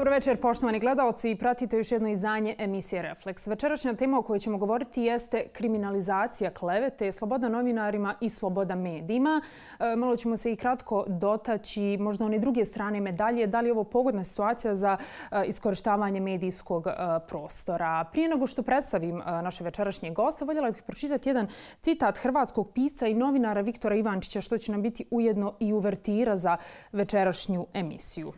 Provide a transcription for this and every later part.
Dobro večer, poštovani gledaoci. Pratite još jedno izdanje emisije Refleks. Večerašnja tema o kojoj ćemo govoriti jeste kriminalizacija klevete, sloboda novinarima i sloboda medijima. Malo ćemo se i kratko dotaći možda one druge strane medalje. Da li je ovo pogodna situacija za iskorištavanje medijskog prostora? Prije nego što predstavim naše večerašnje goste, voljela bih pročitati jedan citat hrvatskog pisca i novinara Viktora Ivančića, što će nam biti ujedno i uvertira za večerašnju emisiju.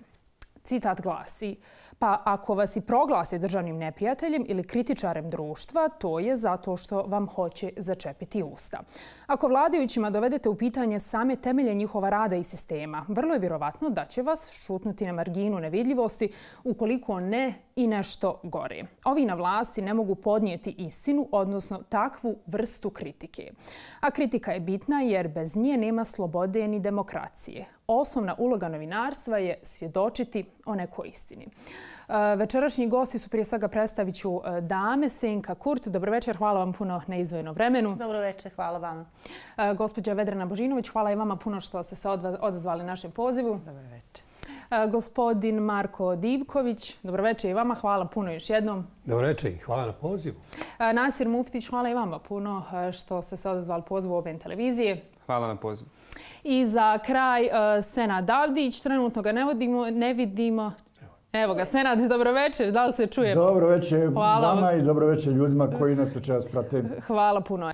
Citat glasi: "Pa ako vas i proglase državnim neprijateljem ili kritičarem društva, to je zato što vam hoće začepiti usta. Ako vladajućima dovedete u pitanje same temelje njihova rada i sistema, vrlo je vjerovatno da će vas šutnuti na marginu nevidljivosti, ukoliko ne i nešto gore. Ovi na vlasti ne mogu podnijeti istinu, odnosno takvu vrstu kritike. A kritika je bitna jer bez nje nema slobode ni demokracije. Osnovna uloga novinarstva je svjedočiti o nekoj istini." Večerašnji gosti su, prije svega predstavit ću dame. Senka Kurt, dobro večer, hvala vam puno na izdvojenom vremenu. Dobro večer, hvala vam. Gospođa Vedrana Božinović, hvala i vama puno što ste se odazvali našem pozivu. Dobro večer. Gospodin Marko Divković, dobro večer i vama, hvala puno još jednom. Dobro večer i hvala na pozivu. Nasir Muftić, hvala i vama puno što ste se odazvali pozivu OBN televizije. Hvala na pozivu. I za kraj Senad Davdić, trenutno ga ne vidimo. Evo ga, Senad, dobro večer, da li se čuje? Dobro večer vama i dobro večer ljudima koji nas večeras prate. Hvala puno.